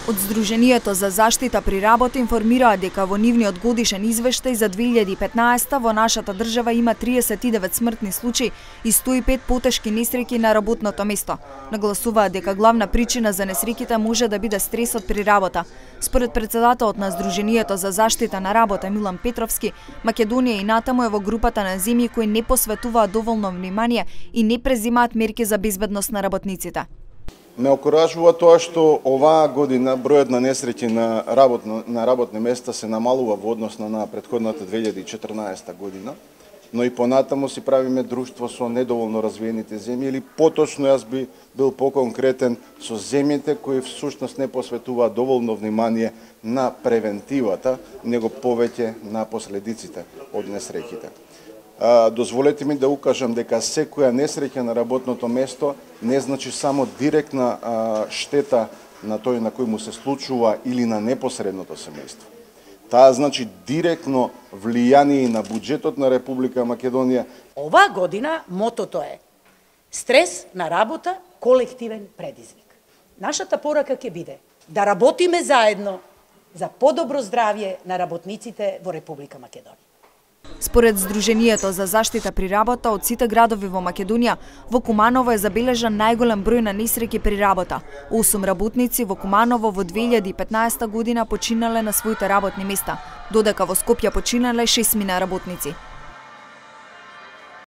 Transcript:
Од Сдруженијето за заштита при работа информираа дека во нивниот годишен извештај за 2015 во нашата држава има 39 смртни случаи и 105 потешки несреќи на работното место. Нагласуваат дека главна причина за несреќите може да биде стресот при работа. Според претседателот на Сдруженијето за заштита на работа Милан Петровски, Македонија и натаму е во групата на земји кои не посветуваат доволно внимание и не презимаат мерки за безбедност на работниците. Ме окуражува тоа што оваа година бројот на несреќи на работни места се намалува во однос на претходната 2014 година, но и понатаму си правиме друштво со недоволно развиените земји, или поточно јас би бил поконкретен со земјите кои всушност не посветуваат доволно внимание на превентивата, него повеќе на последиците од несреќите. Дозволете ми да укажам дека секоја несреќа на работното место не значи само директна штета на тој на кој му се случува или на непосредното семејство. Таа значи директно влијание на буџетот на Република Македонија. Оваа година мотото е стрес на работа, колективен предизвик. Нашата порака ќе биде да работиме заедно за подобро здравје на работниците во Република Македонија. Според Сдруженијето за заштита при работа, од сите градови во Македонија, во Куманово е забележан најголем број на несреќи при работа. 8 работници во Куманово во 2015 година починале на своите работни места, додека во Скопје починале 6 работници.